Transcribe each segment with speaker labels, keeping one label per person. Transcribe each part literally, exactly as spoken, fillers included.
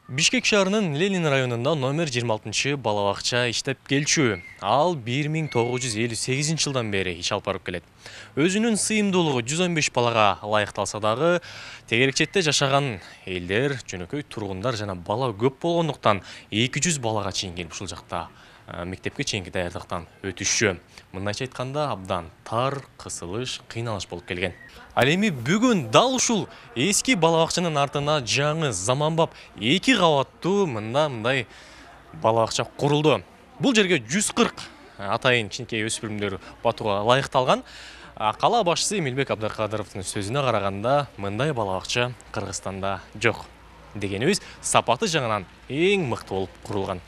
Speaker 1: Бишкек шаарынын Ленин районунда номер жыйырма алтынчы бала бакча иштеп келчү. Ал бир миң тогуз жүз элүү сегизинчи жылдан бери иш алып барып келет. Өзүнүн сыйымдуулугу жүз он беш балага ылайыкталса дагы, тегерекчетте жашаган элдер, жөнөкөй тургундар жана бала көп болгондуктан эки жүз балага чейин келип ушул жакта мектепке чейинки даярдыктан өтүшчү. Мындайча айтканда абдан тар, кысылыш, кыйналыш болуп келген. Ал эми бүгүн дал ушул эски бала бакчанын артына жаңы заманбап эки кабаттуу мында мындай бала бакча курулду. Бул жерге жүз кырк атайын кичинекей өспүрүмдөр батууга ылайыкталган. Кала башчысы Эмилбек Абдыкадыровдун сөзүнө караганда, мындай бала бакча Кыргызстанда жок. Дегенибиз, сапаты жагынан эң мыкты болуп курулган.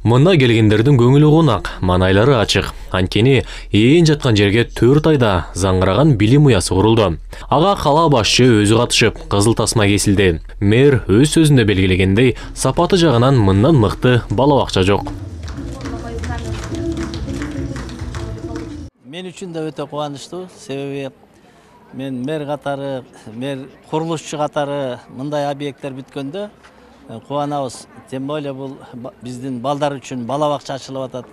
Speaker 1: Мында келгендердин көңүлү кунак, манайлары ачык. Анткени ээн жаткан жерге төрт айда заңгыраган билим уясы курулду. Ага кала башчы өзү катышып, кызыл тасма кесилди. Мэр өз сөзүндө белгилегендей, сапаты жагынан мындан мыкты бала бакча жок.
Speaker 2: Мен үчүн да өтө кубанычтуу, себеби мен мэр катары, мэр курулушчу катары мындай объекттер бүткөндө кубанабыз. Тем более бул биздин балдар үчүн бала бакча ачылып атат.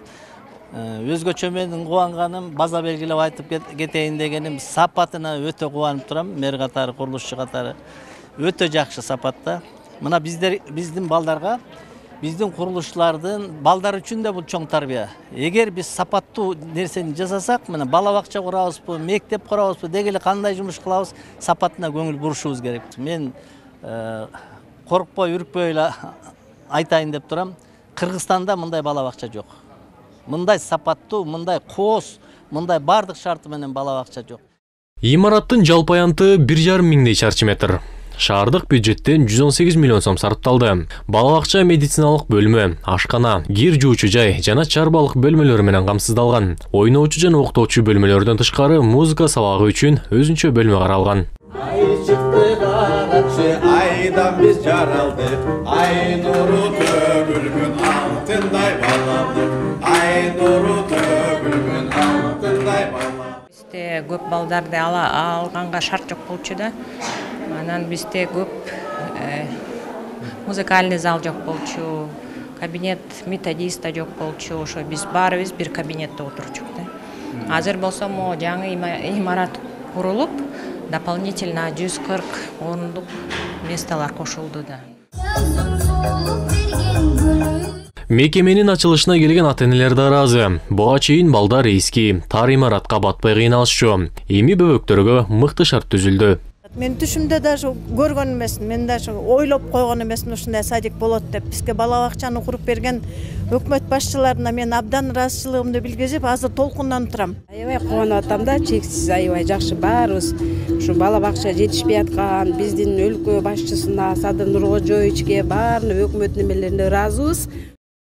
Speaker 2: Өзгөчө менин кубанганым, база белгилеп айтып кетейин дегеним, сапатына өтө кубанып турам. Мэр катары, курулушчу катары өтө жакшы сапатта. Мына биздер биздин балдарга, биздин курулушчулардын балдар үчүн да бул чоң тарбия. Эгер биз сапаттуу нерсени жасасак, мына бала бакча курабызбы, мектеп курабызбы, деги эле кандай жумуш кылабыз, сапатына көңүл бурушубуз керек. Мен коркпой, үркпөй эле айтайын деп турам. Кыргызстанда мындай бала бакча жок. Мындай сапаттуу, мындай кооз, мындай бардык шарты менен бала бакча жок.
Speaker 1: Имараттын жалпы аянты бир жарым миңдей чарчы метр. Шаардык бюджеттен жүз он сегиз миллион сом сарпталды. Бала бакча медициналык бөлмө, ашкана, кир жуучу жай жана чарбалык бөлмөлөр менен камсыздалган. Ойноочу жана уктоочу бөлмөлөрдөн тышкары музыка сабагы үчүн өзүнчө бөлмө каралган.
Speaker 3: Айдан биз жаралдык, ай нуру төгүлгөн алтындай балалык, ай нуру төгүлгөн алтындай балалык.
Speaker 4: Бизде көп балдарды ала алганга шарт жок болчу да. Анан бизде көп музыкальный зал жок болчу, кабинет методиста жок болчу. Ошо биз баарыбыз бир кабинетте отурчук да. Азыр болсо мо жаңы имарат курулуп, дополнительно жүз кырк орындык месталар кошулду да.
Speaker 1: Мекеменин ачылышына келген ата-энелер да ыраазы. Буга чейин балдар эски, тар имаратка батпай кыйналышчу. Эми бөбөктөргө мыкты шарт түзүлдү.
Speaker 5: Мен түшүмдө даже көргөн эмесмин, мен даже ойлоп койгон эмесмин ушундай садик болот деп. Бизге бала бакчаны куруп берген өкмөт башчыларына мен абдан ыраазычылыгымды билгизип, азыр толкунданып турам.
Speaker 6: Аябай кубанып атам да, чексиз аябай жакшы баарыбыз. Ушу бала бакча жетишпей аткан биздин өлкө башчысына, Садыр Нуркожоевичке, баарына өкмөт немелерине ыраазыбыз.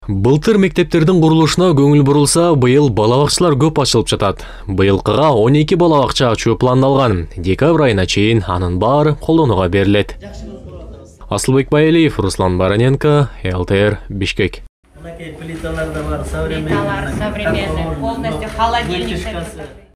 Speaker 1: Былтыр мектептердин курулушуна көңүл бурулса, быйыл бала бакчалар көп ачылып жатат. Быйылкыга он эки бала бакча ачуу пландалган. Декабрь айына чейин анын баары колдонууга берилет. Асылбек Байалиев, Руслан Бараненко, эл тэ эр, Бишкек.
Speaker 2: Плиталар да бар, современный.
Speaker 4: Плиталар современный, полностью холодильник.